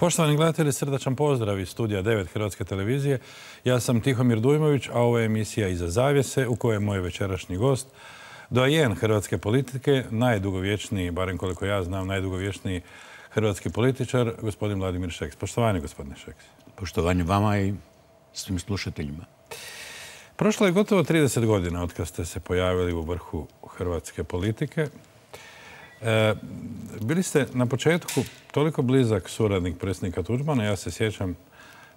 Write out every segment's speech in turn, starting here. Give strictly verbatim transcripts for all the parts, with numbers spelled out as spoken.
Poštovani gledatelji, srdačan pozdrav iz studija devet Hrvatske televizije. Ja sam Tihomir Dujmović, a ovo je emisija Iza zavjese u kojoj je moj večerašnji gost, doajen hrvatske politike, najdugovječniji, barem koliko ja znam, najdugovječniji hrvatski političar, gospodin Vladimir Šeks. Poštovanje, gospodine Šeks. Poštovanje vama i svim slušateljima. Prošlo je gotovo trideset godina od kad ste se pojavili u vrhu hrvatske politike. E, bili ste na početku toliko blizak suradnik predsjednika Tuđmana. Ja se sjećam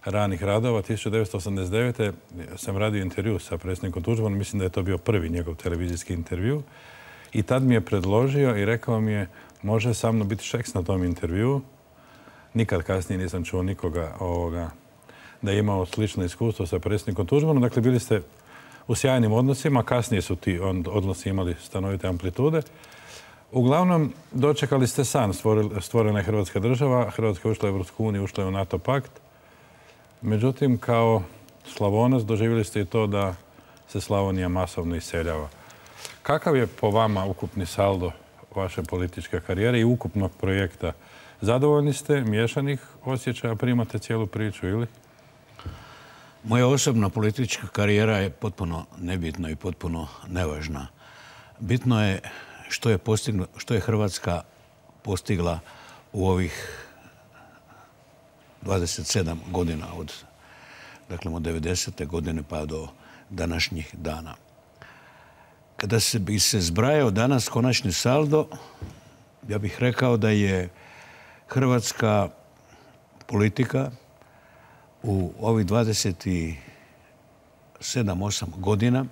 ranih radova. tisuću devetsto osamdeset devete. sam radio intervju sa predsjednikom Tuđmanom. Mislim da je to bio prvi njegov televizijski intervju. I tad mi je predložio i rekao mi je može sa mnom biti Šeks na tom intervju. Nikad kasnije nisam čuo nikoga ovoga da je imao slično iskustvo sa predsjednikom Tuđmanom. Dakle, bili ste u sjajnim odnosima. Kasnije su ti odnosi imali stanovite amplitude. Uglavnom, dočekali ste san. Stvorena je Hrvatska država. Hrvatska je ušla u Europsku uniju, ušla je u NATO pakt. Međutim, kao Slavonac doživjeli ste i to da se Slavonija masovno iseljava. Kakav je po vama ukupni saldo vaše političke karijere i ukupnog projekta? Zadovoljni ste, miješanih osjećaja, primate cijelu priču ili? Moja osobna politička karijera je potpuno nebitna i potpuno nevažna. Bitno je što je, postignu, što je Hrvatska postigla u ovih dvadeset sedam godina od, dakle, od devedesete godine pa do današnjih dana. Kada se bi se zbrajao danas konačni saldo, ja bih rekao da je hrvatska politika u ovih dvadeset sedam osam godina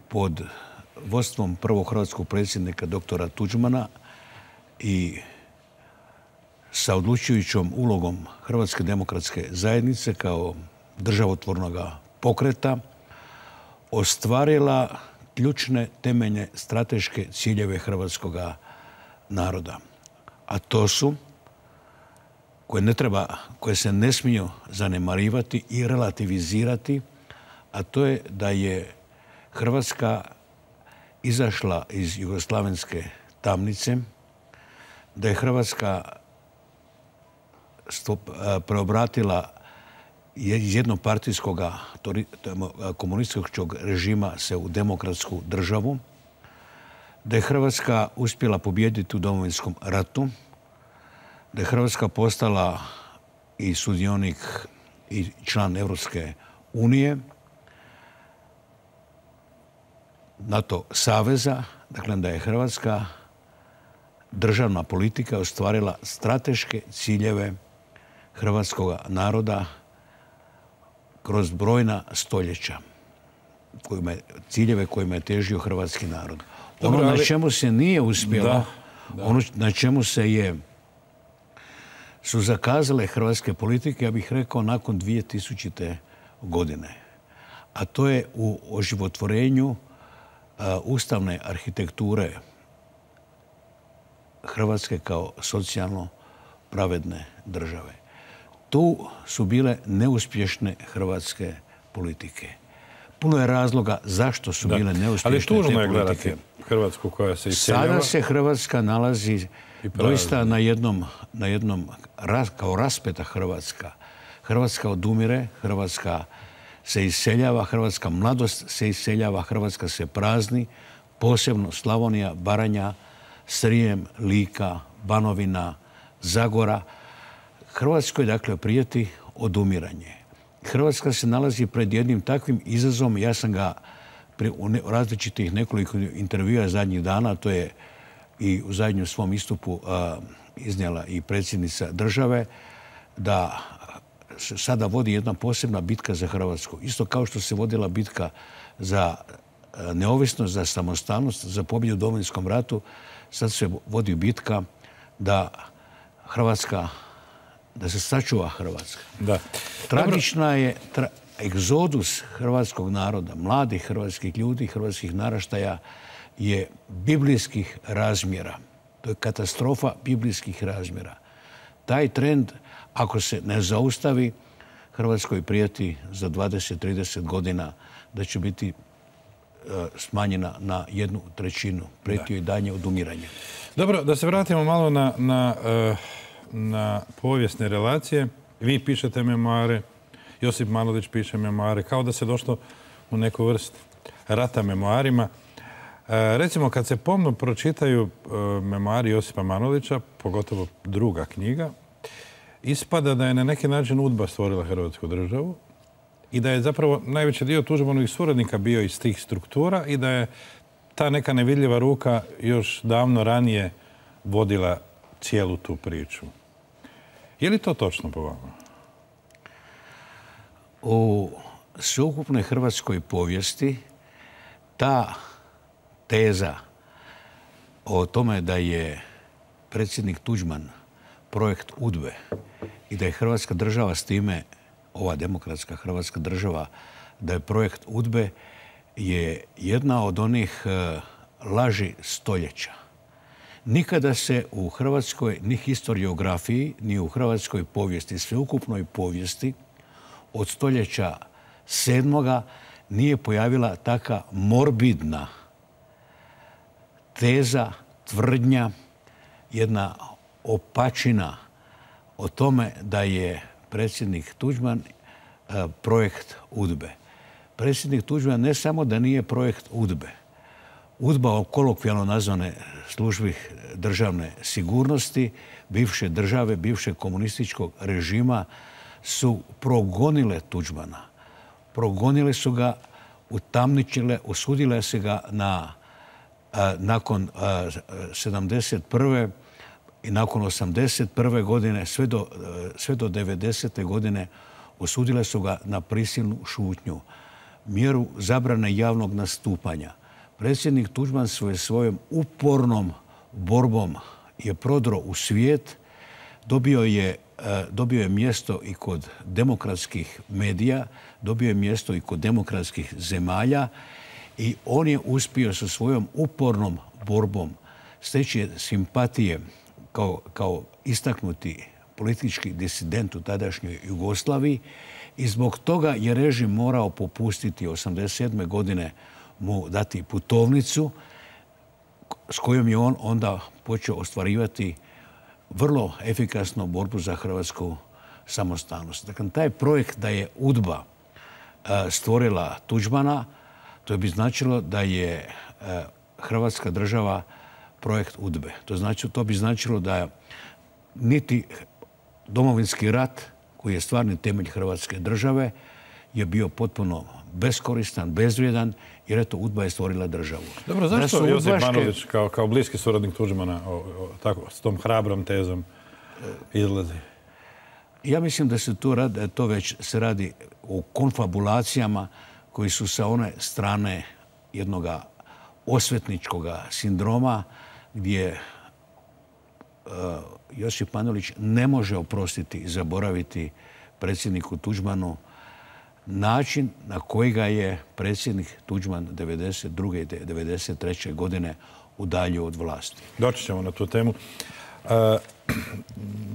pod vodstvom prvog hrvatskog predsjednika doktora Tuđmana i sa odlučujućom ulogom Hrvatske demokratske zajednice kao državotvornog pokreta ostvarila ključne temeljne strateške ciljeve hrvatskog naroda. A to su, koje ne treba, koje se ne smiju zanemarivati i relativizirati, a to je da je Hrvatska izašla iz jugoslavenske tamnice, da je Hrvatska preobratila iz jednopartijskog komunističkog režima se u demokratsku državu, da je Hrvatska uspjela pobijediti u Domovinskom ratu, da je Hrvatska postala i sudionik i član Europske unije, NATO saveza, dakle da je Hrvatska državna politika ostvarila strateške ciljeve hrvatskog naroda kroz brojna stoljeća, kojima je, ciljeve kojima je težio hrvatski narod. Ono Dobre, ali... na čemu se nije uspjelo, da, da. ono na čemu se je su zakazale hrvatske politike, ja bih rekao, nakon dvije tisućite. godine. A to je u oživotvorenju uh, ustavne arhitekture Hrvatske kao socijalno pravedne države. Tu su bile neuspješne hrvatske politike. Puno je razloga zašto su da. bile neuspješne te politike. Ali tužno je gledati Hrvatsku koja se iseljava. Sada se Hrvatska nalazi doista na jednom, na jednom kao raspeta Hrvatska. Hrvatska odumire, Hrvatska se iseljava, hrvatska mladost se iseljava, Hrvatska se prazni, posebno Slavonija, Baranja, Srijem, Lika, Banovina, Zagora. Hrvatskoj, dakle, prijeti odumiranje. Hrvatska se nalazi pred jednim takvim izazovom. Ja sam ga u različitih nekoliko intervjua zadnjih dana, to je i u zadnjem svom istupu a, iznijela i predsjednica države, da se sada vodi jedna posebna bitka za Hrvatsku. Isto kao što se vodila bitka za neovisnost, za samostalnost, za pobjedu u Domovinskom ratu, sad se vodi bitka da Hrvatska, da se sačuva Hrvatska. Da. Tragična je tra, egzodus hrvatskog naroda, mladih hrvatskih ljudi, hrvatskih naraštaja je biblijskih razmjera. To je katastrofa biblijskih razmjera. Taj trend, ako se ne zaustavi, Hrvatskoj prijeti za dvadeset do trideset godina da će biti uh, smanjena na jednu trećinu. Prijeti joj daljnje odumiranje. Dobro, da se vratimo malo na, na uh, na povijesne relacije. Vi pišete memoare, Josip Manolić piše memoare, kao da se došlo u neku vrst rata memoarima. Recimo, kad se pomno pročitaju memoari Josipa Manolića, pogotovo druga knjiga, ispada da je na neki način UDBA stvorila Hrvatsku državu i da je zapravo najveći dio Tuđmanovih suradnika bio iz tih struktura i da je ta neka nevidljiva ruka još davno ranije vodila cijelu tu priču. Je li to točno po vama? U sveukupnoj hrvatskoj povijesti ta teza o tome da je predsjednik Tuđman projekt UDBE i da je Hrvatska država s time, ova demokratska Hrvatska država, da je projekt UDBE je jedna od onih laži stoljeća. Nikada se u hrvatskoj ni historiografiji, ni u hrvatskoj povijesti, sveukupnoj povijesti od stoljeća sedmoga nije pojavila taka morbidna teza, tvrdnja, jedna opačina o tome da je predsjednik Tuđman projekt UDBE. Predsjednik Tuđman ne samo da nije projekt UDBE, UDBA, kolokvijalno nazvane službi državne sigurnosti, bivše države, bivšeg komunističkog režima, su progonile Tuđmana. Progonile su ga, utamničile, osudile se ga na, a, nakon a, sedamdeset prve i nakon osamdeset prve godine, sve do, sve do devedesete godine, osudile su ga na prisilnu šutnju, mjeru zabrane javnog nastupanja. Predsjednik Tuđman svoje svojom upornom borbom je prodro u svijet, dobio je, dobio je mjesto i kod demokratskih medija, dobio je mjesto i kod demokratskih zemalja i on je uspio sa svojom upornom borbom steći simpatije kao, kao istaknuti politički disident u tadašnjoj Jugoslaviji i zbog toga je režim morao popustiti osamdeset sedme godine mu dati putovnicu s kojom je on onda počeo ostvarivati vrlo efikasnu borbu za hrvatsku samostalnost. Dakle, taj projekt da je UDBA stvorila Tuđmana, to bi značilo da je Hrvatska država projekt UDBE. To, znači, to bi značilo da niti Domovinski rat, koji je stvarni temelj Hrvatske države, je bio potpuno beskoristan, bezvrijedan, jer eto, UDBA je stvorila državu. Dobro, zašto Josip udbaške... Manolić kao, kao bliski suradnik Tuđmana o, o, tako, s tom hrabrom tezom izlazi? Ja mislim da se tu radi, to već se radi o konfabulacijama koji su sa one strane jednog osvetničkog sindroma gdje uh, Josip Manolić ne može oprostiti i zaboraviti predsjedniku Tuđmanu način na koji ga je predsjednik Tuđman devedeset druge i devedeset treće godine udaljio od vlasti. Doći ćemo na tu temu. Uh,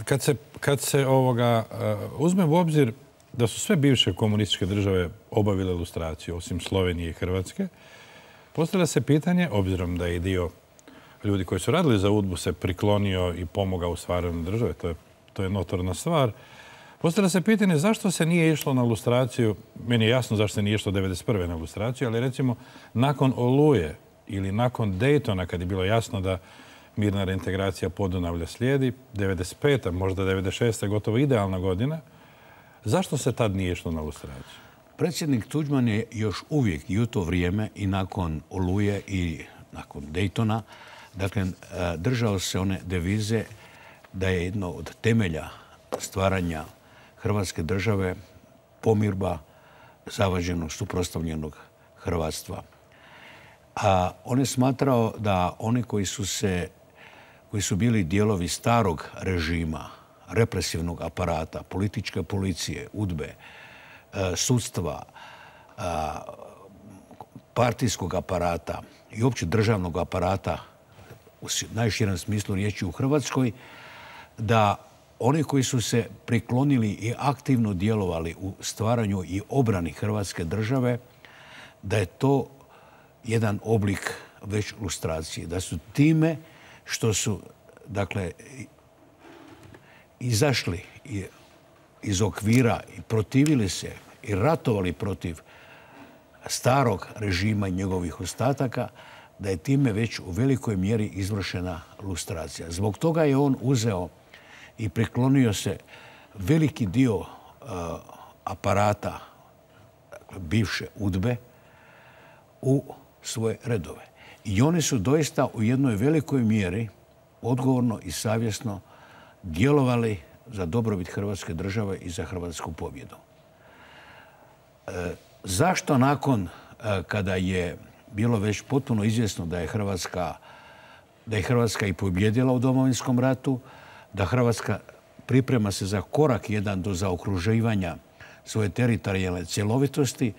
kad se, kad se ovoga, uh, uzme u obzir da su sve bivše komunističke države obavile lustraciju, osim Slovenije i Hrvatske, postavlja se pitanje, obzirom da je dio ljudi koji su radili za UDBU se priklonio i pomogao u stvaranju države, to je, to je notorna stvar, postavlja se pitanje zašto se nije išlo na lustraciju, meni je jasno zašto se nije išlo devedeset prve na lustraciju, ali recimo nakon Oluje ili nakon Daytona, kad je bilo jasno da mirna reintegracija Podunavlja slijedi, devedeset peta, možda devedeset šesta gotovo idealna godina, zašto se tad nije išlo na lustraciju? Predsjednik Tuđman je još uvijek i u to vrijeme i nakon Oluje i nakon Daytona, dakle, držao se one devize da je jedno od temelja stvaranja Hrvatske države pomirba zavađenog, suprotstavljenog hrvatstva. A on je smatrao da oni koji su se, koji su bili dijelovi starog režima, represivnog aparata, političke policije, UDBE, sudstva, partijskog aparata i uopće državnog aparata u najširem smislu riječi u Hrvatskoj, da oni koji su se priklonili i aktivno djelovali u stvaranju i obrani Hrvatske države, da je to jedan oblik već lustracije. Da su time što su, dakle, izašli iz okvira i protivili se i ratovali protiv starog režima i njegovih ostataka, da je time već u velikoj mjeri izvršena lustracija. Zbog toga je on uzeo i priklonio se veliki dio uh, aparata, dakle, bivše udbe, u svoje redove. I oni su doista u jednoj velikoj mjeri odgovorno i savjesno djelovali za dobrobit Hrvatske države i za hrvatsku pobjedu. E, zašto nakon, e, kada je bilo već potpuno izvjesno da je Hrvatska, da je Hrvatska i pobjedila u Domovinskom ratu, da Hrvatska priprema se za korak jedan do zaokruživanja svoje teritorijalne cjelovitosti,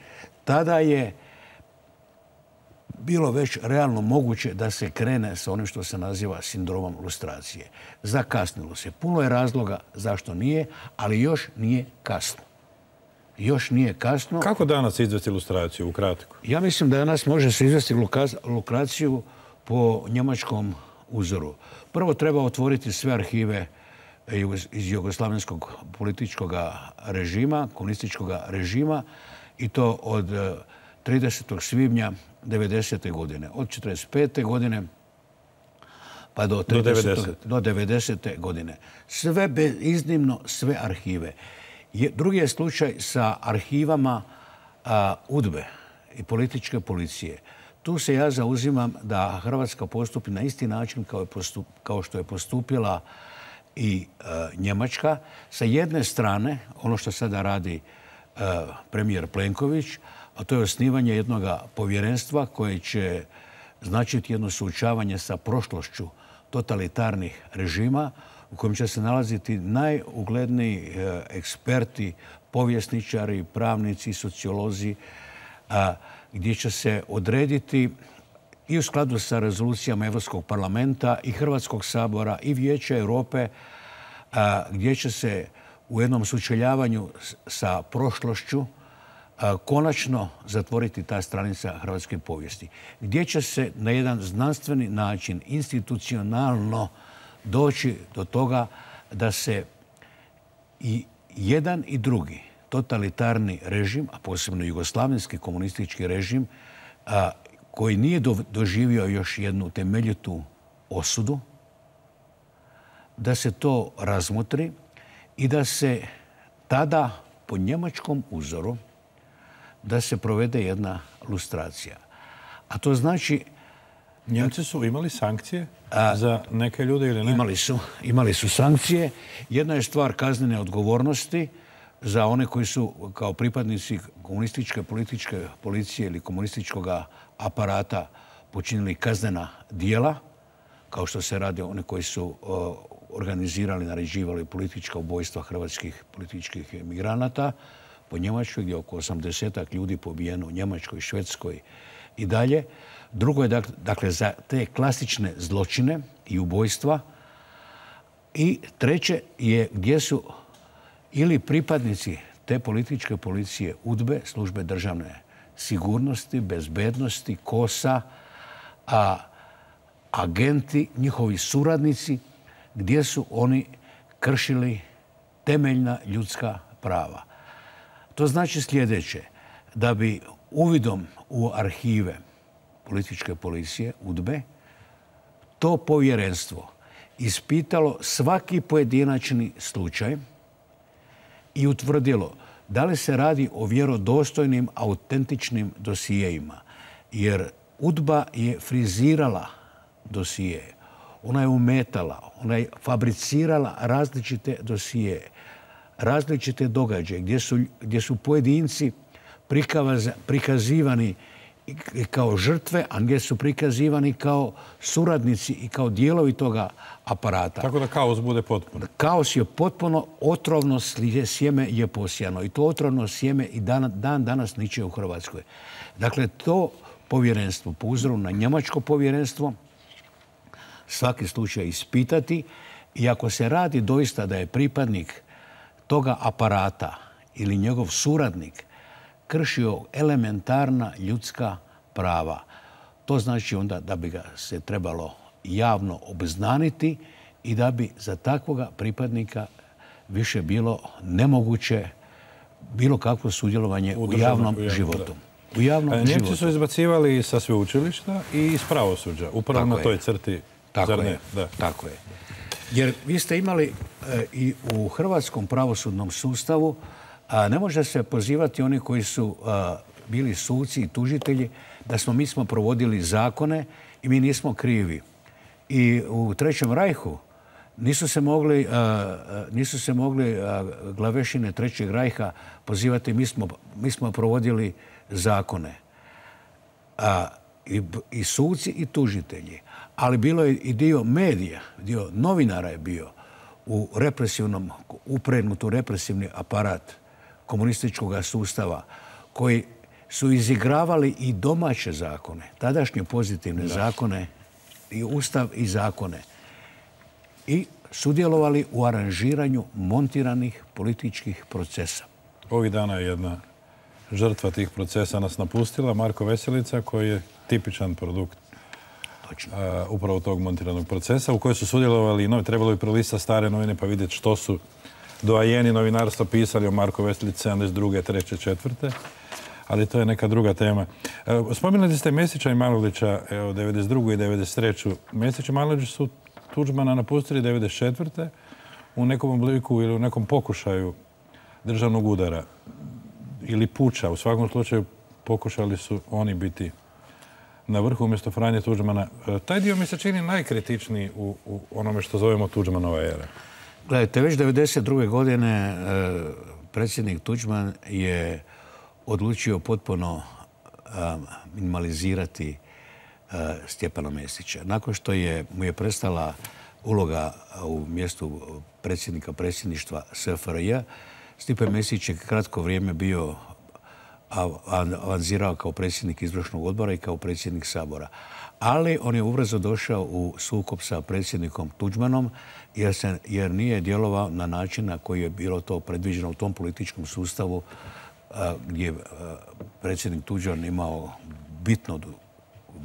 tada je bilo već realno moguće da se krene sa onim što se naziva sindromom lustracije. Zakasnilo se. Puno je razloga zašto nije, ali još nije kasno. Još nije kasno. Kako danas izvesti lustraciju, ukratko? Ja mislim da danas može se izvesti lustraciju po njemačkom uzoru. Prvo treba otvoriti sve arhive iz jugoslavenskog političkog režima, komunističkog režima, i to od tridesetog svibnja devedesete godine. Od četrdeset pete godine pa do, do devedesete godine. Sve bez iznimno, sve arhive. Je, drugi je slučaj sa arhivama a, udbe i političke policije. Tu se ja zauzimam da Hrvatska postupi na isti način kao, je postup, kao što je postupila i a, Njemačka. Sa jedne strane, ono što sada radi a, premijer Plenković, a to je osnivanje jednog povjerenstva koje će značiti jedno suočavanje sa prošlošću totalitarnih režima, u kojem će se nalaziti najugledniji eksperti, povjesničari, pravnici, sociolozi, gdje će se odrediti i u skladu sa rezolucijama Europskog parlamenta i Hrvatskog sabora i Vijeća Europe, gdje će se u jednom sučeljavanju sa prošlošću konačno zatvoriti ta stranica hrvatske povijesti, gdje će se na jedan znanstveni način, institucionalno doći do toga da se i jedan i drugi totalitarni režim, a posebno jugoslavenski komunistički režim, a, koji nije do, doživio još jednu temeljitu osudu, da se to razmotri i da se tada po njemačkom uzoru da se provede jedna lustracija. A to znači... Njemci su imali sankcije a, za neke ljude ili ne? Imali su, imali su sankcije. Jedna je stvar kaznene odgovornosti za one koji su kao pripadnici komunističke političke policije ili komunističkog aparata počinili kaznena dijela, kao što se radi o one koji su o, organizirali, naređivali politička ubojstva hrvatskih političkih emigranata po Njemačkoj, gdje je oko osamdesetak ljudi pobijeno u Njemačkoj, Švedskoj i dalje. Drugo je dakle za te klasične zločine i ubojstva. I treće je gdje su ili pripadnici te političke policije udbe, službe državne sigurnosti, bezbednosti, kosa, a agenti, njihovi suradnici, gdje su oni kršili temeljna ljudska prava. To znači sljedeće, da bi uvidom u arhive političke policije, udbe, to povjerenstvo ispitalo svaki pojedinačni slučaj i utvrdilo da li se radi o vjerodostojnim, autentičnim dosijeima. Jer udba je frizirala dosije, ona je umetala, ona je fabricirala različite dosije, različite događaje gdje su, gdje su pojedinci prikaz, prikazivani kao žrtve, a gdje su prikazivani kao suradnici i kao dijelovi toga aparata. Tako da kaos bude potpuno. Kaos je potpuno, otrovno sjeme je posijano. I to otrovno sjeme i dan, dan danas niče u Hrvatskoj. Dakle, to povjerenstvo, po uzoru na njemačko povjerenstvo, svaki slučaj ispitati, i ako se radi doista da je pripadnik toga aparata ili njegov suradnik kršio elementarna ljudska prava, to znači onda da bi ga se trebalo javno obznaniti i da bi za takvoga pripadnika više bilo nemoguće bilo kakvo sudjelovanje u, u javnom u životu. U javnom Njemci životu. su izbacivali sa sveučilišta i iz pravosuđa, upravo Tako na je. toj crti. Tako Zar ne? je. Da. Tako je. Jer vi ste imali e, i u hrvatskom pravosudnom sustavu, a ne može se pozivati oni koji su a, bili suci i tužitelji da smo mi smo provodili zakone i mi nismo krivi. I u Trećem rajhu nisu se mogli, a, nisu se mogli a, glavešine Trećeg rajha pozivati mi smo, mi smo provodili zakone. A, i, i suci i tužitelji. Ali bilo je i dio medija, dio novinara je bio u represivnom, upregnuti u represivni aparat komunističkog sustava koji su izigravali i domaće zakone, tadašnje pozitivne da. zakone, i ustav i zakone. I sudjelovali u aranžiranju montiranih političkih procesa. Ovih dana je jedna žrtva tih procesa nas napustila, Marko Veselica, koji je tipičan produkt Uh, upravo tog montiranog procesa u kojoj su sudjelovali, no, trebalo bi prolistati stare novine pa vidjeti što su doajeni novinarstva pisali o Marku Veselici sedamdeset druge, treće, četvrte ali to je neka druga tema. Uh, spominjali ste Mesića i Manolića, evo, devedeset drugu i devedeset treću Mesić i Manolić su Tuđmana napustili devedeset četvrte u nekom obliku ili u nekom pokušaju državnog udara ili puča. U svakom slučaju pokušali su oni biti na vrhu umjesto Franje Tuđmana. Taj dio mi se čini najkritičniji u, u onome što zovemo Tuđmanova era. Gledajte, već devedeset druge godine e, predsjednik Tuđman je odlučio potpuno e, minimalizirati e, Stjepana Mesića. Nakon što je, mu je prestala uloga u mjestu predsjednika predsjedništva S F R J, Stipe Mesić je kratko vrijeme bio avanzirao kao predsjednik izvršnog odbora i kao predsjednik Sabora. Ali on je ubrzo došao u sukob sa predsjednikom Tuđmanom jer, se, jer nije djelovao na način na koji je bilo to predviđeno u tom političkom sustavu a, gdje je predsjednik Tuđman imao bitno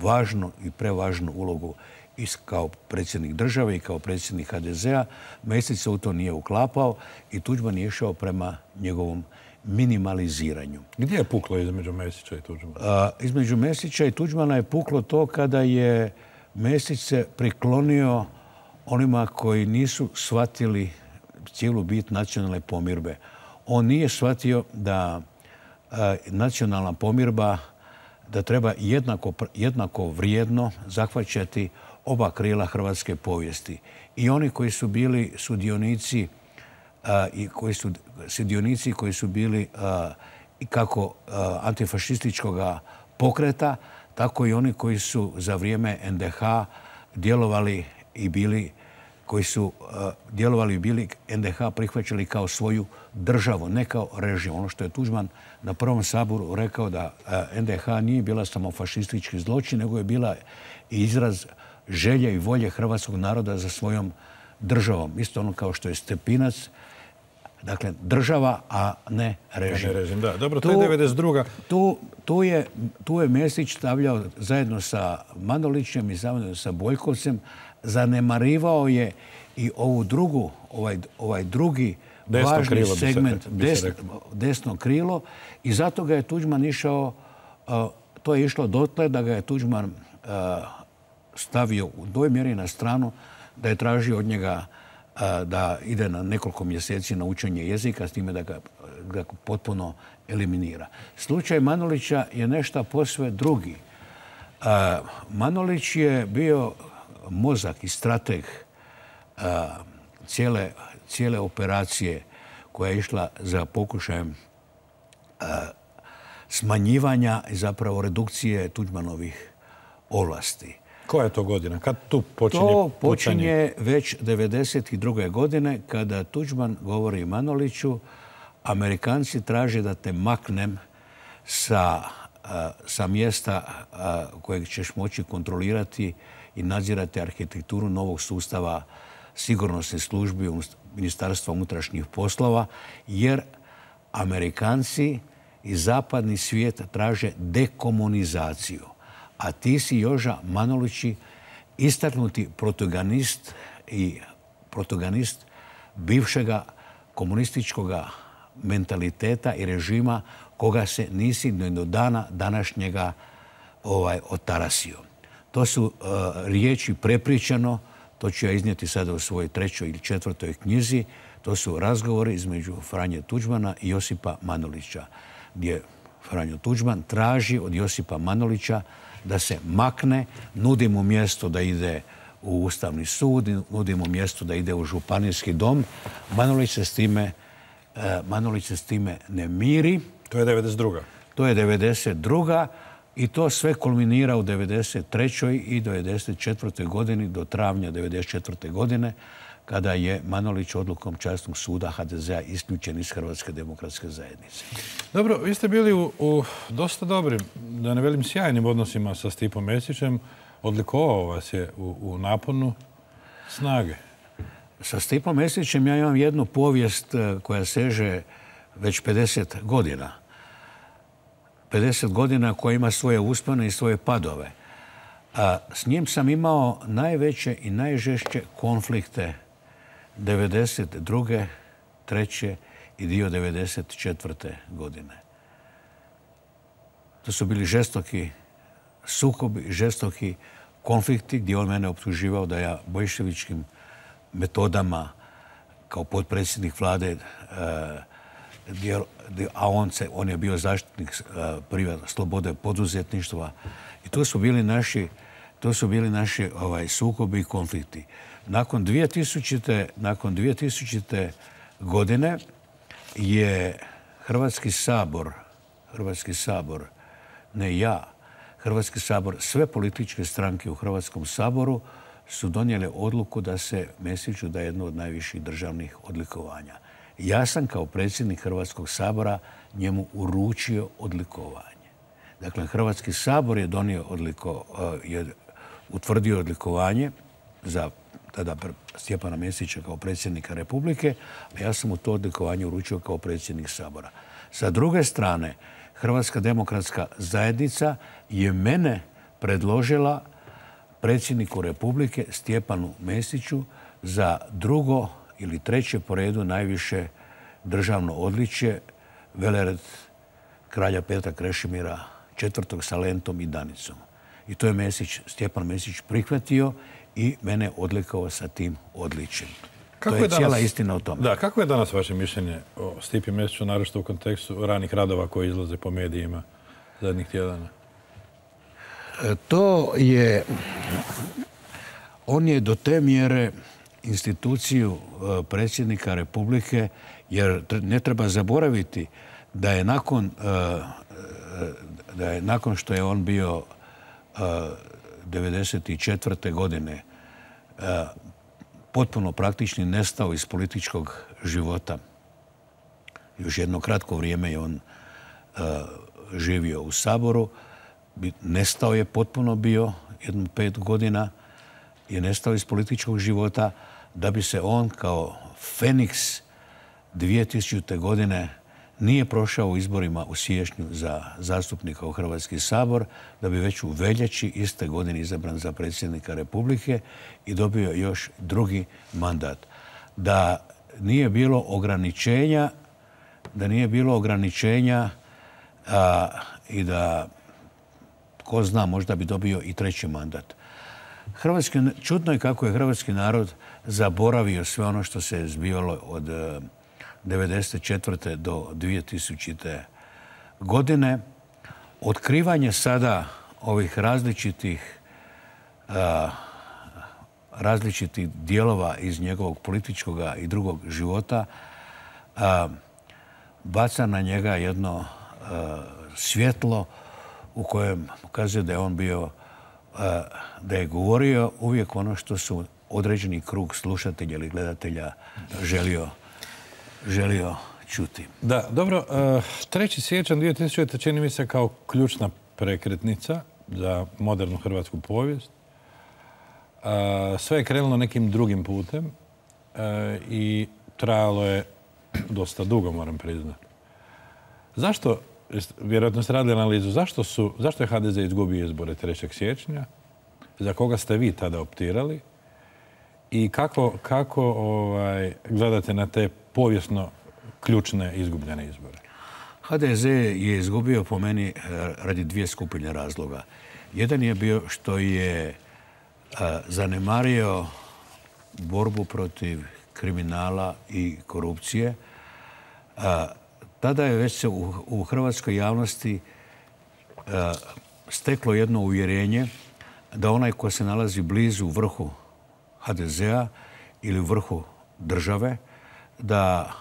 važnu i prevažnu ulogu i kao predsjednik države i kao predsjednik H D Z-a. Mesić se u to nije uklapao i Tuđman je išao prema njegovom minimaliziranju. Gdje je puklo između Mesića i Tuđmana? A, između Mesića i Tuđmana je puklo to kada je Mesić se priklonio onima koji nisu shvatili cijelu bit nacionalne pomirbe. On nije shvatio da a, nacionalna pomirba da treba jednako, jednako vrijedno zahvaćati oba krila hrvatske povijesti. I oni koji su bili sudionici a, i koji su sudionici koji su bili a, i kako a, antifašističkog pokreta, tako i oni koji su za vrijeme N D H djelovali i bili koji su uh, djelovali i bili N D H prihvaćali kao svoju državu, ne kao režim. Ono što je Tuđman na prvom saboru rekao da uh, N D H nije bila samo fašistički zločin, nego je bila i izraz želje i volje hrvatskog naroda za svojom državom. Isto ono kao što je Stepinac, dakle država, a ne režim. Ne režim, da. Dobro, to je devedeset druga Tu, tu, je, tu je Mesić stavljao zajedno sa Manolićem i zajedno sa Boljkovcem, zanemarivao je i ovu drugu, ovaj, ovaj drugi desno važni krilo, segment, se, desno, desno krilo, i zato ga je Tuđman išao, uh, to je išlo dotle da ga je Tuđman uh, stavio u doj mjeri na stranu, da je tražio od njega uh, da ide na nekoliko mjeseci na učenje jezika, s time da ga, ga potpuno eliminira. Slučaj Manolića je nešto posve drugi. Uh, Manolić je bio mozak i strateg uh, cijele, cijele operacije koja je išla za pokušajem uh, smanjivanja i zapravo redukcije Tuđmanovih ovlasti. Koja je to godina? Kad tu počinje To počinje pucanje? Već devedeset druge godine kada Tuđman govori Manoliću: Amerikanci traže da te maknem sa, uh, sa mjesta uh, kojeg ćeš moći kontrolirati i nadzirati arhitekturu novog sustava sigurnosnih službi Ministarstva unutrašnjih poslova, jer Amerikanci i zapadni svijet traže dekomunizaciju. A ti si, Joža Manolići, istaknuti protagonist i protagonist bivšega komunističkog mentaliteta i režima koga se nisi do dana današnjega ovaj, otarasio. To su uh, riječi prepričano, to ću ja iznijeti sada u svojoj trećoj ili četvrtoj knjizi, to su razgovori između Franje Tuđmana i Josipa Manolića, gdje Franjo Tuđman traži od Josipa Manolića da se makne, nudi mu mjesto da ide u Ustavni sud, nudi mu mjesto da ide u Županijski dom. Manolić se s time, eh, Manolić se s time ne miri. To je devedeset druga. To je devedeset druga i to sve kulminira u devedeset trećoj i devedeset četvrtoj godini do travnja devedeset četvrte godine kada je Manolić odlukom Časnog suda ha de zea isključen iz Hrvatske demokratske zajednice. Dobro, vi ste bili u, u dosta dobrim, da ne velim sjajnim odnosima sa Stipom Mesićem. Odlikovao vas je u, u naponu snage. Sa Stipom Mesićem ja imam jednu povijest koja seže već pedeset godina. pedeset godina koja ima svoje uspone i svoje padove. A s njim sam imao najveće i najžešće konflikte devedeset druge, treće i dio devedeset četvrte godine. To su bili žestoki sukobi, žestoki konflikti gdje on mene optuživao da ja bolševičkim metodama kao potpredsjednik vlade, a on, se, on je bio zaštitnik privatne slobode poduzetništva. I to su bili naši, to su bili naši ovaj, sukobi i konflikti. Nakon dvije tisućite. Nakon dvije tisućite. godine je Hrvatski sabor, Hrvatski sabor, ne ja, Hrvatski sabor, sve političke stranke u Hrvatskom saboru su donijele odluku da se Mesiću da jedno od najviših državnih odlikovanja. Ja sam kao predsjednik Hrvatskog sabora njemu uručio odlikovanje. Dakle, Hrvatski sabor je donio odliko, je utvrdio odlikovanje za tada Stjepana Mesića kao predsjednika Republike, a ja sam mu to odlikovanje uručio kao predsjednik sabora. Sa druge strane, Hrvatska demokratska zajednica je mene predložila predsjedniku Republike Stjepanu Mesiću za drugo ili treće po redu najviše državno odličje, velered kralja Petra Krešimira četvrtog sa lentom i danicom. I to je Mesić, Stjepan Mesić prihvatio i mene odlikovao sa tim odličjem. Kako to je, je danas, cijela istina o tome. Da, kako je danas vaše mišljenje o Stipi Mesiću, naročito u kontekstu ranih radova koji izlaze po medijima zadnjih tjedana? To je... On je do te mjere instituciju predsjednika Republike, jer ne treba zaboraviti da je nakon, da je nakon što je on bio devedeset četvrte. godine potpuno praktični nestao iz političkog života. Još jedno kratko vrijeme je on živio u Saboru. Nestao je potpuno bio, jedno pet godina je nestao iz političkog života, da bi se on kao Feniks dvije tisućite. godine nije prošao u izborima u siječnju za zastupnika u Hrvatski sabor, da bi već u veljači iste godine izabran za predsjednika Republike i dobio još drugi mandat. Da nije bilo ograničenja, da nije bilo ograničenja a, i da, ko zna, možda bi dobio i treći mandat. Hrvatski, čudno je kako je hrvatski narod zaboravio sve ono što se je zbivalo od devedeset četvrte. do dvije tisućite. godine. Otkrivanje sada ovih različitih, a, različitih dijelova iz njegovog političkog i drugog života a, baca na njega jedno a, svjetlo u kojem pokazuje da je on bio, a, da je govorio uvijek ono što su određeni krug slušatelja ili gledatelja želio želio čuti. Da, dobro. treći siječanj dvije tisućite. čini mi se kao ključna prekretnica za modernu hrvatsku povijest. Sve je krenulo nekim drugim putem i trajalo je dosta dugo, moram priznati. Zašto, vjerojatno ste radili analizu, zašto, su, zašto je ha de ze izgubio izbore trećeg siječnja? Za koga ste vi tada optirali? I kako, kako ovaj, gledate na te povijesno ključne izgubljene izbore? ha de ze je izgubio po meni radi dvije skupine razloga. Jedan je bio što je zanemario borbu protiv kriminala i korupcije. Tada je već se u hrvatskoj javnosti steklo jedno uvjerenje da onaj ko se nalazi blizu vrhu ha de zea ili u vrhu države, da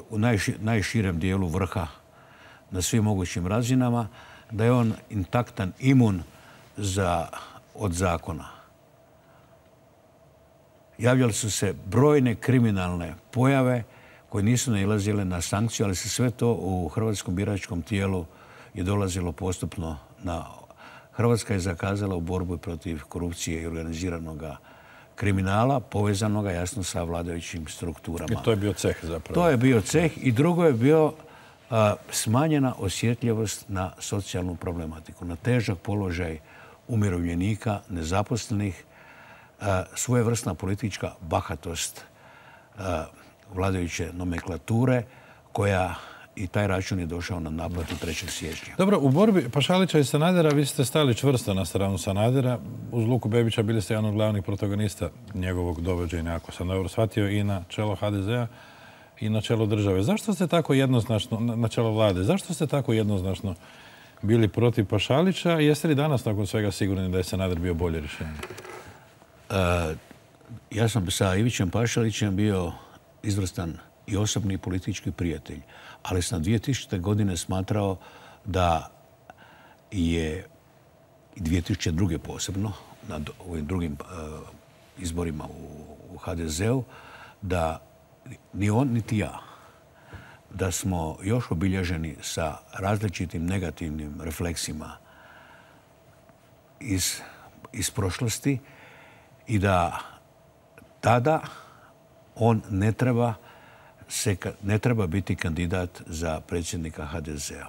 u najširem dijelu vrha na svim mogućim razinama, da je on intaktan, imun za, od zakona. Javljali su se brojne kriminalne pojave koje nisu nailazile na sankciju, ali se sve to u hrvatskom biračkom tijelu je dolazilo postupno na... Hrvatska je zakazala u borbu protiv korupcije i organiziranog kriminala, povezanoga jasno sa vladajućim strukturama. I to je bio ceh zapravo. To je bio ceh i drugo je bio a, smanjena osjetljivost na socijalnu problematiku, na težak položaj umirovljenika, nezaposlenih, a, svojevrsna politička bahatost a, vladajuće nomenklature koja i taj račun je došao na naplatu trećeg siječnja. Dobro, u borbi Pašalića i Sanadera vi ste stali čvrsto na stranu Sanadera. Uz Luku Bebića bili ste jedan od glavnih protagonista njegovog dovođenja, ako sam dobro shvatio, i na čelo ha de zea i na čelo države. Zašto ste tako jednoznačno, na čelo vlade, zašto ste tako jednoznačno bili protiv Pašalića? Jeste li danas nakon svega sigurni da je Sanader bio bolje rješenje? E, ja sam sa Ivićem Pašalićem bio izvrstan i osobni politički prijatelj. Ali sam dvije tisućite. godine smatrao da je i dvije tisuće druge. posebno, na ovim drugim uh, izborima u, u ha de zeu, da ni on, niti ja, da smo još obilježeni sa različitim negativnim refleksima iz, iz prošlosti i da tada on ne treba se ne treba biti kandidat za predsjednika ha de zea.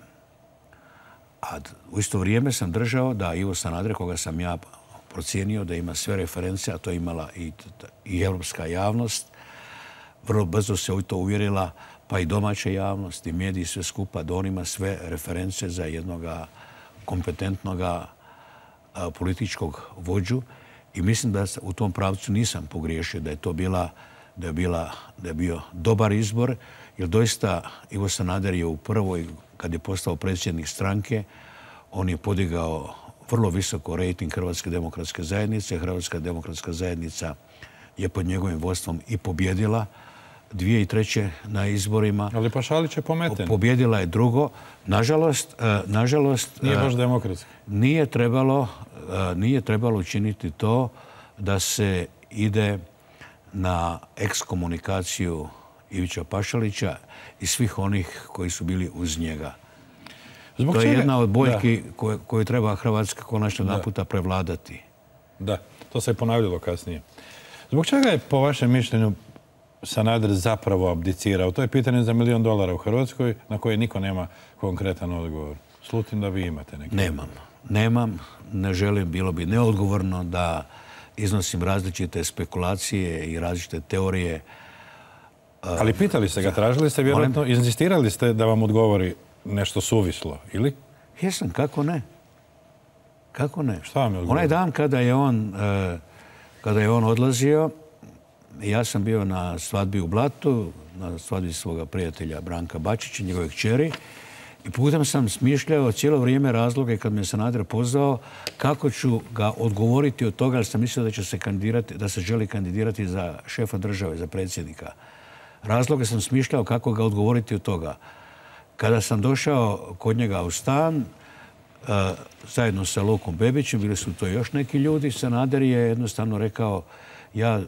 A u isto vrijeme sam držao da Ivo Sanader, koga sam ja procijenio da ima sve reference, a to je imala i, i europska javnost, vrlo brzo se u to uvjerila, pa i domaća javnost i mediji sve skupa, da on ima sve reference za jednog kompetentnog političkog vođu i mislim da u tom pravcu nisam pogriješio, da je to bila da je, bila, da je bio dobar izbor, jer doista Ivo Sanader je u prvoj, kad je postao predsjednik stranke, on je podigao vrlo visoko rejting Hrvatske demokratske zajednice. Hrvatska demokratska zajednica je pod njegovim vodstvom i pobjedila dvije i treće na izborima. Ali Pašalić je pometen. Pobjedila je drugo. Nažalost, nažalost nije baš demokratski. Nije trebalo, nije trebalo učiniti to da se ide na ekskomunikaciju Ivića Pašalića i svih onih koji su bili uz njega. Zbog to je čega? Jedna od boljki koju, koju treba Hrvatska konačno naputa prevladati. Da, to se je ponavljalo kasnije. Zbog čega je, po vašem mišljenju, Sanader zapravo abdicirao? To je pitanje za milion dolara u Hrvatskoj na koje niko nema konkretan odgovor. Slutim da vi imate neki. Nemam. Nemam. Ne želim. Bilo bi neodgovorno da iznosim različite spekulacije i različite teorije. Ali pitali ste ga, tražili ste vjerojatno, inzistirali ste da vam odgovori nešto suvislo, ili? Jesam, kako ne? Kako ne? Šta vam je odgovorio? Onaj dan kada je on, kada je on odlazio, ja sam bio na svadbi u Blatu, na svadbi svoga prijatelja Branka Bačića, njegove kćeri, i putem sam smišljao cijelo vrijeme razloge kad me Sanader pozvao kako ću ga odgovoriti od toga, ali sam mislio da će se kandidirati, da se želi kandidirati za šefa države, za predsjednika. Razloge sam smišljao kako ga odgovoriti od toga. Kada sam došao kod njega u stan, zajedno sa Lukom Bebićem, bili su to još neki ljudi, Sanader je jednostavno rekao ja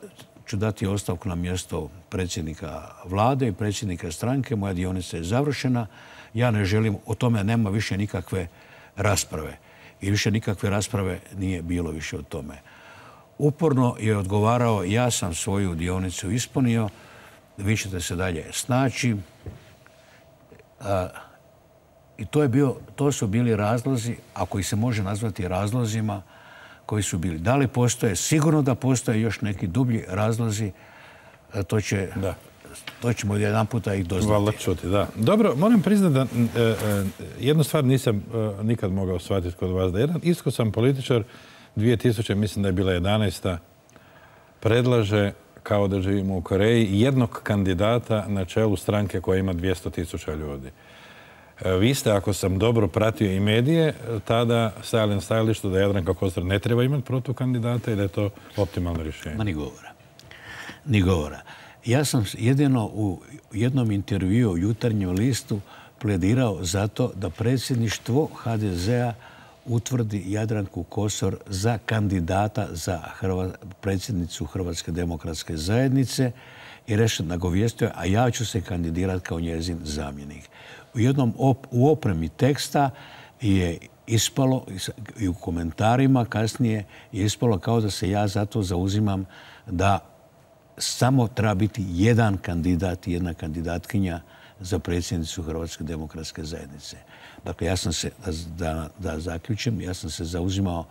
ću dati ostavku na mjesto predsjednika vlade i predsjednika stranke, moja dionica je završena, ja ne želim, o tome nema više nikakve rasprave. I više nikakve rasprave nije bilo više o tome. Uporno je odgovarao, ja sam svoju dionicu ispunio, vi ćete se dalje snaći. A, I to, je bio, to su bili razlozi, ako ih se može nazvati razlozima, koji su bili. Da li postoje? Sigurno da postoje još neki dublji razlozi. To će da. to ćemo jedan puta ih doznati. Valjda čuti, da. Dobro, moram priznati da e, e, jednu stvar nisam e, nikad mogao shvatiti kod vas. Da jedan iskusan političar dvije tisuće, mislim da je bila jedanaesta, predlaže, kao da živimo u Koreji, jednog kandidata na čelu stranke koja ima dvjesto tisuća ljudi. E, vi ste, ako sam dobro pratio i medije, tada stajali na stajalištu da Jadranka Kosor ne treba imati protukandidata i da je to optimalno rješenje. Ma ni govora. Ni govora. Ja sam jedino u jednom intervjuu u Jutarnjem listu pledirao za to da predsjedništvo ha de zea utvrdi Jadranku Kosor za kandidata za Hrva, predsjednicu Hrvatske demokratske zajednice i rešen nagovijestio, a ja ću se kandidirati kao njezin zamjenik. U jednom op, u opremi teksta je ispalo i u komentarima kasnije je ispalo kao da se ja zato zauzimam da samo treba biti jedan kandidat i jedna kandidatkinja za predsjednicu Hrvatske demokratske zajednice. Dakle, ja sam se, da, da, da zaključim, ja sam se zauzimao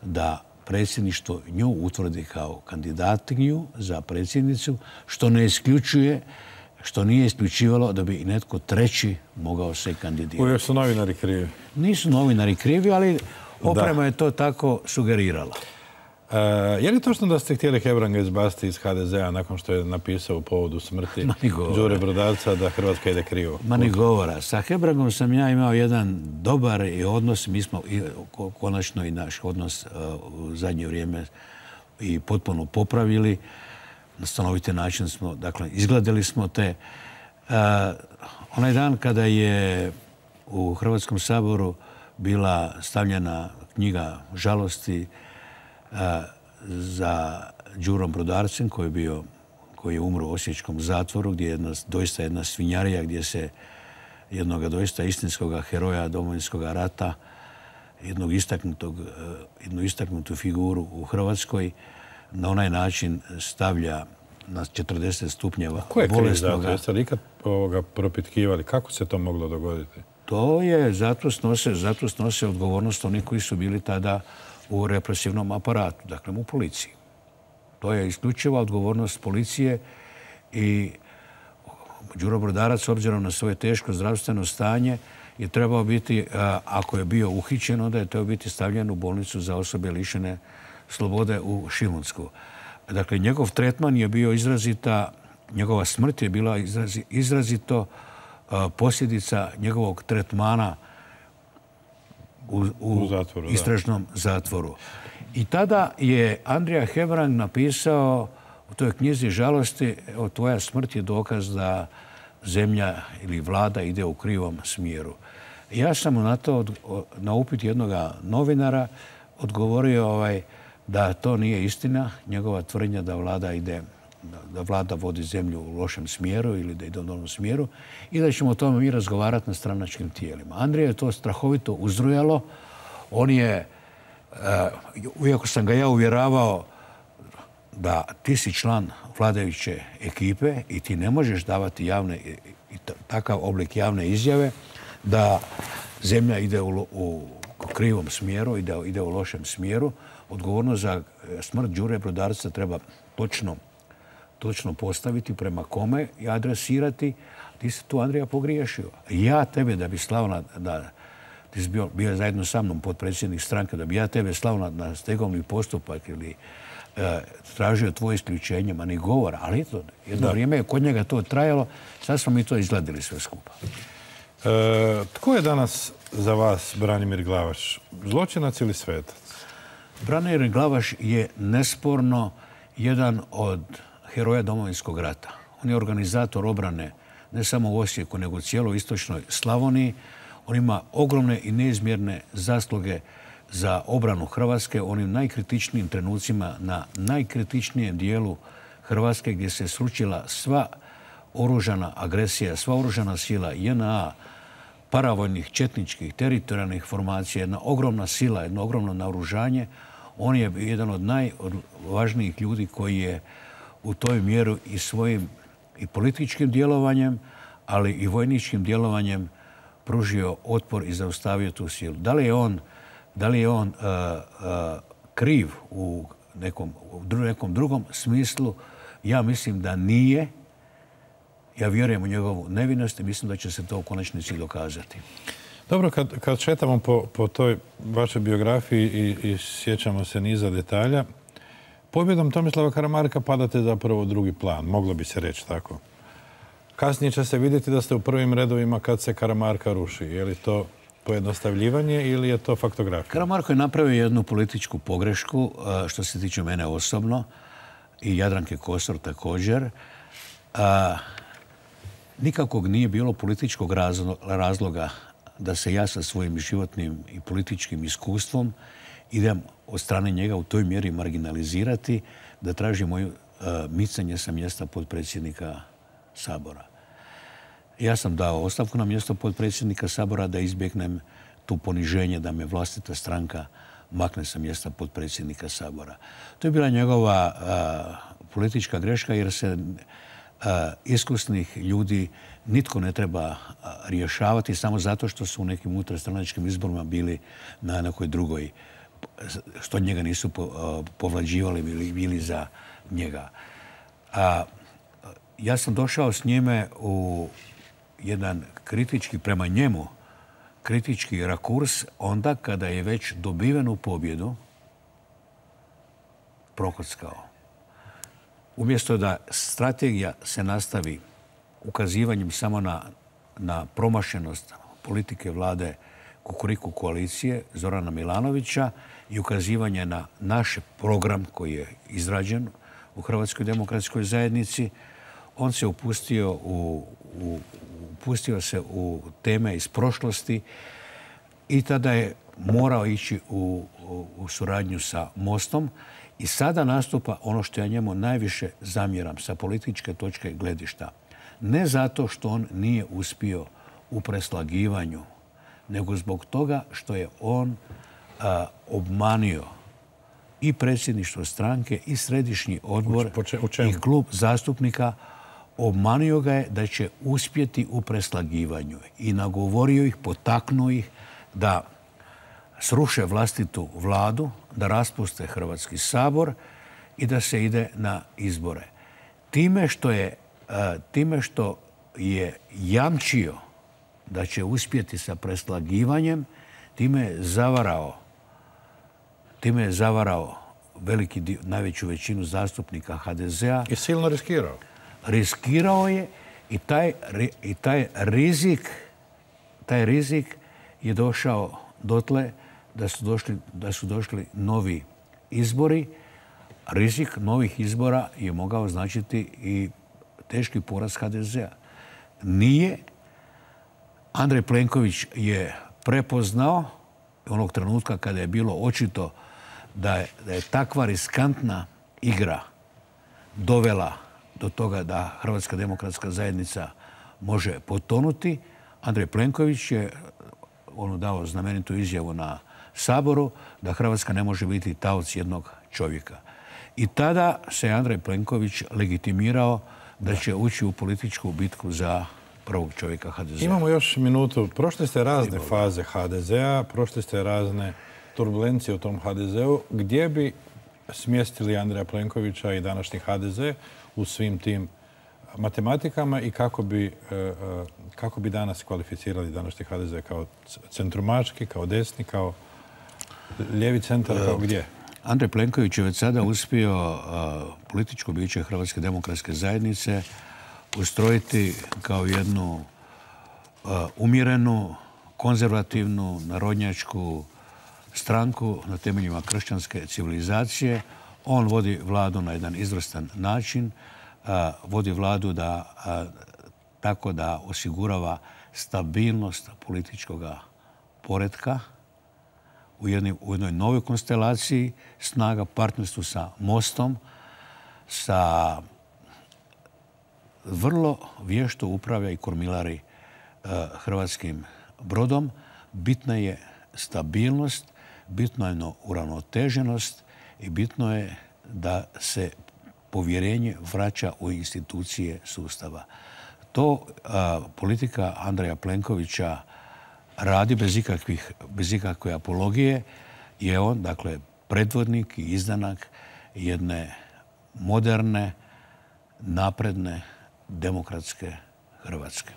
da predsjedništvo nju utvrdi kao kandidatkinju za predsjednicu, što ne isključuje, što nije isključivalo da bi i netko treći mogao se kandidirati. Uvijek su novinari krivi. Nisu novinari krivi, ali oprema da. je to tako sugerirala. Uh, je li točno da ste htjeli Hebranga izbaciti iz ha de zea nakon što je napisao u povodu smrti Đure Brodarca da Hrvatska ide krivo? Ma ni govora. Sa Hebrangom sam ja imao jedan dobar i odnos. Mi smo i, konačno i naš odnos uh, u zadnje vrijeme i potpuno popravili. Na stanoviti način smo, dakle, izgledali smo te. Uh, onaj dan kada je u Hrvatskom saboru bila stavljena knjiga žalosti za Đurom Brodarcem, koji je bio, koji je umro u osječkom zatvoru, gdje je jedna, doista jedna svinjarija, gdje se jednog doista istinskog heroja Domovinskog rata, jednog istaknutog, jednu istaknutu figuru u Hrvatskoj, na onaj način stavlja na četrdeset stupnjeva bolesnoga. Ko je kriv za to? Jeste li ikad ovoga propitkivali? Kako se to moglo dogoditi? To je, zato snose, zato snose odgovornost oni koji su bili tada u represivnom aparatu, dakle u policiji. To je isključiva odgovornost policije i Đuro Brodarac, s obzirom na svoje teško zdravstveno stanje, je trebao biti, ako je bio uhićen, onda je trebao biti stavljen u bolnicu za osobe lišene slobode u Šimunsku. Dakle, njegov tretman je bio izrazita, njegova smrt je bila izrazi, izrazito posljedica njegovog tretmana u, u, u zatvoru, istražnom da. zatvoru. I tada je Andrija Hebrang napisao u toj knjizi žalosti, evo, tvoja smrt je dokaz da zemlja ili vlada ide u krivom smjeru. Ja sam na to, na upit jednog novinara, odgovorio ovaj, da to nije istina, njegova tvrdnja da vlada ide, da vlada vodi zemlju u lošem smjeru ili da ide u dobrom smjeru i da ćemo o tome mi razgovarati na stranačkim tijelima. Andrija je to strahovito uzrujalo. On je, uh, iako sam ga ja uvjeravao da ti si član vladajuće ekipe i ti ne možeš davati javne, i takav oblik javne izjave da zemlja ide u, u krivom smjeru i da ide u lošem smjeru, odgovornost za smrt Đure Brodarca treba točno točno postaviti prema kome i adresirati. Ti si tu, Andrija, pogriješio. Ja tebe, da bi slao na, da ti si bio, bio zajedno sa mnom potpredsjednik stranke, da bi ja tebe slao na, na stegovni postupak ili e, tražio tvoje isključenje, ma ni govora. Ali to, jedno da. vrijeme je kod njega to trajalo, sad smo mi to izgledali sve skupa. E, tko je danas za vas Branimir Glavaš? Zločinac ili svetac? Branimir Glavaš je nesporno jedan od heroja Domovinskog rata. On je organizator obrane ne samo u Osijeku, nego u cijeloj istočnoj Slavoniji. On ima ogromne i neizmjerne zasluge za obranu Hrvatske u onim najkritičnijim trenucima na najkritičnijem dijelu Hrvatske gdje se sručila sva oružana agresija, sva oružana sila J N A, paravojnih, četničkih, teritorijalnih formacija, jedna ogromna sila, jedno ogromno naoružanje. On je jedan od najvažnijih ljudi koji je u toj mjeru i svojim i političkim djelovanjem, ali i vojničkim djelovanjem pružio otpor i zaustavio tu silu. Da li je on, da li je on uh, uh, kriv u nekom, u nekom drugom smislu? Ja mislim da nije, Ja vjerujem u njegovu nevinost i mislim da će se to u konačnici dokazati. Dobro, kad, kad šetamo po, po toj vašoj biografiji i, i sjećamo se niza detalja, pobjedom Tomislava Karamarka padate zapravo u drugi plan, moglo bi se reći tako. Kasnije će se vidjeti da ste u prvim redovima kad se Karamarka ruši. Je li to pojednostavljivanje ili je to faktografija? Karamarko je napravio jednu političku pogrešku, što se tiče mene osobno, i Jadranke Kosor također. A, nikakvog nije bilo političkog razloga da se ja sa svojim životnim i političkim iskustvom idem od strane njega u toj mjeri marginalizirati, da traži moju micanje sa mjesta potpredsjednika Sabora. Ja sam dao ostavku na mjesto potpredsjednika Sabora da izbjegnem tu poniženje da me vlastita stranka makne sa mjesta potpredsjednika Sabora. To je bila njegova a, politička greška jer se a, iskusnih ljudi nitko ne treba a, rješavati samo zato što su u nekim unutarstranačkim izborima bili na nekoj drugoj, što njega nisu po, a, povlađivali ili bili za njega. A, ja sam došao s njime u jedan kritički prema njemu kritički rakurs onda kada je već dobivenu pobjedu prokockao. Umjesto da strategija se nastavi ukazivanjem samo na, na promašenost politike vlade Kukuriku koalicije Zorana Milanovića i ukazivanje na naš program koji je izrađen u Hrvatskoj demokratskoj zajednici, on se upustio u, u upustio se u teme iz prošlosti i tada je morao ići u, u, u suradnju sa Mostom i sada nastupa ono što ja njemu najviše zamjeram sa političke točke gledišta. Ne zato što on nije uspio u preslagivanju, nego zbog toga što je on a, obmanio i predsjedništvo stranke i središnji odbor i klub zastupnika. Obmanio ga je da će uspjeti u preslagivanju i nagovorio ih, potaknuo ih da sruše vlastitu vladu, da raspuste Hrvatski sabor i da se ide na izbore. Time što je, time što je jamčio da će uspjeti sa preslagivanjem, time je zavarao, time je zavarao veliki dio, najveću većinu zastupnika ha de zea. I silno riskirao. Riskirao je i taj, i taj rizik taj rizik je došao dotle da su došli, da su došli novi izbori. Rizik novih izbora je mogao značiti i teški poraz ha de zea. Nije. Andrej Plenković je prepoznao onog trenutka kada je bilo očito da je, da je takva riskantna igra dovela do toga da Hrvatska demokratska zajednica može potonuti. Andrej Plenković je ono dao znamenitu izjavu na Saboru da Hrvatska ne može biti taoc jednog čovjeka. I tada se Andrej Plenković legitimirao da će ući u političku bitku za prvog čovjeka ha de zea. Imamo još minutu. Prošli ste razne faze ha de zea, prošli ste razne turbulencije u tom ha de zeu. Gdje bi smjestili Andreja Plenkovića i današnji ha de ze u svim tim matematikama i kako bi, kako bi danas kvalificirali današnji ha de ze kao centrumački, kao desni, kao lijevi centar, kao gdje? Andrej Plenković je već sada uspio političko biće Hrvatske demokratske zajednice ustrojiti kao jednu umjerenu, konzervativnu, narodnjačku stranku na temeljima kršćanske civilizacije. On vodi vladu na jedan izvrstan način, vodi vladu da, tako da osigurava stabilnost političkog poretka u, jedni, u jednoj novoj konstelaciji snaga, partnerstvu sa Mostom, sa vrlo vješto upravlja i kormilari uh, hrvatskim brodom. Bitna je stabilnost, bitno je uravnoteženost i bitno je da se povjerenje vraća u institucije sustava. To uh, politika Andreja Plenkovića radi bez ikakvih, bez ikakve apologije. Je on, dakle, predvodnik i izdanak jedne moderne, napredne demokratske Hrvatske.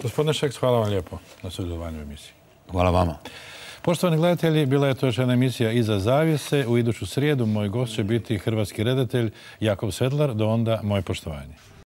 Gospodine Šeks, hvala vam lijepo na sudjelovanju u emisiji. Hvala vama. Poštovani gledatelji, bila je to još jedna emisija Iza zavjese. U iduću srijedu moj gost će biti hrvatski redatelj Jakov Sedlar. Do onda, moje poštovanje.